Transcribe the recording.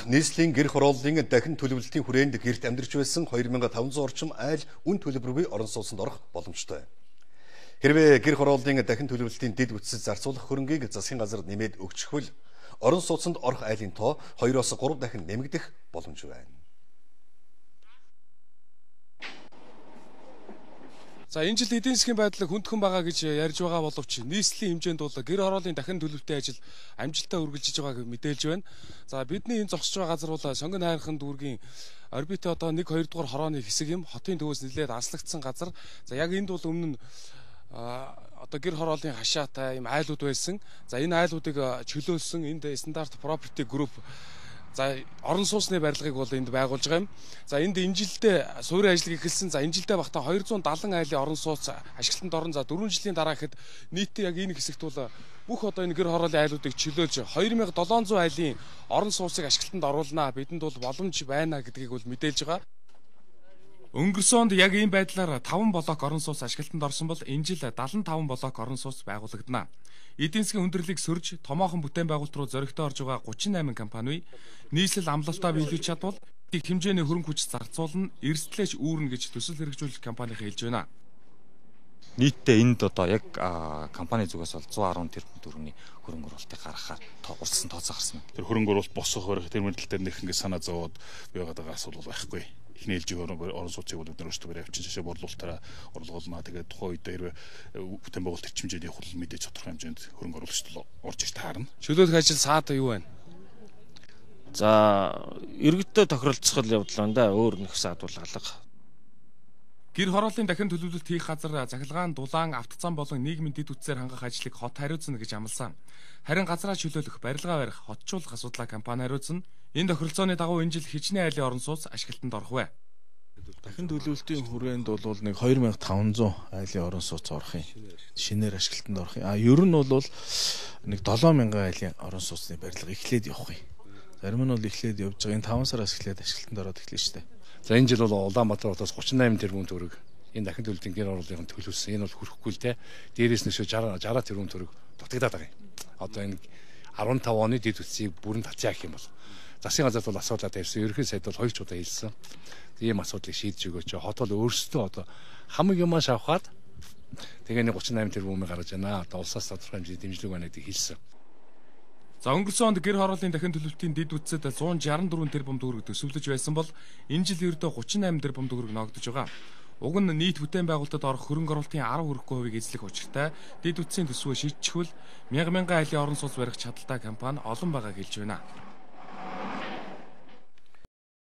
Нийслэлийн гэр хорооллын дахин төлөвлөлтийн хүрээнд гэрт амьдарч байсан 2500 орчим айл үн төлбөргүй орон сууцнд орох боломжтой. Хэрвээ гэр хорооллын дахин төлөвлөлтийн дэд үтсэд зарцуулах хөрөнгийг засгийн газар нэмээд өгчихвөл орон сууцнд орох айлын тоо 2-оос 3 дахин нэмэгдэх боломж байна. За энэ жил эдийн засгийн байдал хүндхэн байгаа гэж ярьж байгаа боловч нийслэлийн хэмжээнд бол гэр хорооллын дахин төлөвлөлтийн ажил амжилттай үргэлжиж байгааг мэдээлж байна. За бидний энэ зогсож байгаа газар бол Сонгон хайрхан дүүргийн орбит одоо 1-2 дугаар хорооны хэсэг юм. Хотын төвөөс нэлээд аслагдсан газар. За яг энд бол өмнө нь одоо гэр хорооллын хашаатай юм айлууд байсан. За энэ айлуудыг чөлөөлсөн энд стандарт property group за орон сууцны барилгыг бол энд байгуулж байгаа юм. За энд энэ жилдээ суурин ажил эхэлсэн. За энэ жилдээ багтаа 270 айлын орон сууц ашиглалтанд орно. За 4 жилийн дараа гэхэд нийтдээ яг энэ хэсэгт бол бүх одоо энэ гэр хорооллын айлуудыг чөлөөлж 2700 айлын орон сууцыг ашиглалтанд оруулнаа. Бидэнд бол боломж байна гэдгийг бол мэдээлж байгаа. Өнгөрсөн онд яг ийм байдлаар 5 блок орон сууц ашиглалтанд орсон бол энэ жил 75 блок орон сууц байгуулагдана. Эдийн засгийн хүндрэлийг сөрж томоохон бүтээн байгуулалт руу зөрөгтэй орж байгаа 38 компани нийслэл амлалтаа биелүүлж чадвал их хэмжээний хөрөнгө хүч зарцуулна, эрсдлээч үүрнэ гэж төсөл хэрэгжүүлэх компани хэлж байна. Нийтдээ энд одоо яг компани зүгээс бол 110 тэрбум төгрөгийн хөрөнгө оруулалтыг гаргахаар урьдчилан тооцоо гарсан. Тэр хөрөнгө оруулалт босох барих тэр мэдлэлээр нэх ингэ санаа зовоод байгаад байгаа асуудал байхгүй. Эхний ээлжийн орон сууцыг бол бид нар өөрсдөө барай авчин шашаа борлуулалтаараа орлуулнаа. Тэгээд тухайн үед хэрвээ бүтээн байгуулалт эрчимжээд явах бол мэдээж тодорхой хэмжээнд хөрөнгө оруулагчд орж иж таарна. Чөлөөлөх ажил саад юу байна? За иргэдтэй тохиролцох явдал байна да. Өөр нэг саад бол алга. Гэр хорооллын дахин төлөвлөлт хийх газар цахилгаан, дулаан, автоцан болон нийгмийн дэд үтсээр хангах ажлыг хот хариуцна гэж амласан. Харин газраа чөлөөлөх, барилгаа барих, хотчуулах асуудлаа компани хариуцна. Энэ тохиролцооны дагуу энэ жил хичнээн айлын орон сууц ашиглалтанд орох вэ. Дахин төлөвлөлтийн хүрээнд бол нэг 2500 айлын орон сууц орох юм. Шинээр ашиглалтанд орох юм. Ер нь бол нэг 7000 айлын орон сууцны барилга эхлээд явах юм. Зарим нь бол эхлээд явж байгаа. Энэ 5 сараас эхлээд ашиглалтанд ороод эхэлнэ шүү дээ. За энэ жил бол Улаанбаатар хотоос 38 тэрбум төгрөг энэ дахин төлөвлөлтийн гэр хорооллын төлөвлөсөн. Энэ бол хүрэхгүй л те. Дээрээс нь 60 тэрбум төгрөг дутагдаад байгаа юм. Одоо энэ 15 оны дэд үтсийг бүрэн татъя гэх юм бол засгийн газарт бол асуудал тавьсан. Ерөнхий сайд бол 2 удаа хэлсэн. Ийм асуудлыг шийдэж өгөөч. Хот бол өөрсдөө одоо хамаг юмаа шавхаад тэгээ нэг 38 тэрбумыг гаргаж байна. Одоо улсаас тодорхой хэмжээний дэмжлэг байна гэдгийг хэлсэн. За өнгөрсөн онд гэр хорооллын дахин төлөвлөлтийн дэд үтсэд 164 тэрбум төгрөг төсөвлөж байсан бол энэ жил ердөө 38 тэрбум төгрөг ногдож байгаа. Уг нь нийт бүтээн байгуулалтад орох хөрөнгө оруулалтын 10 хүрэхгүй хувийг эзлэх учиртай дэд үтсийн төсвөө шийдчихвэл 1000 айлын орон сууц барих чадaltaй компани олон байгааг хэлж байна.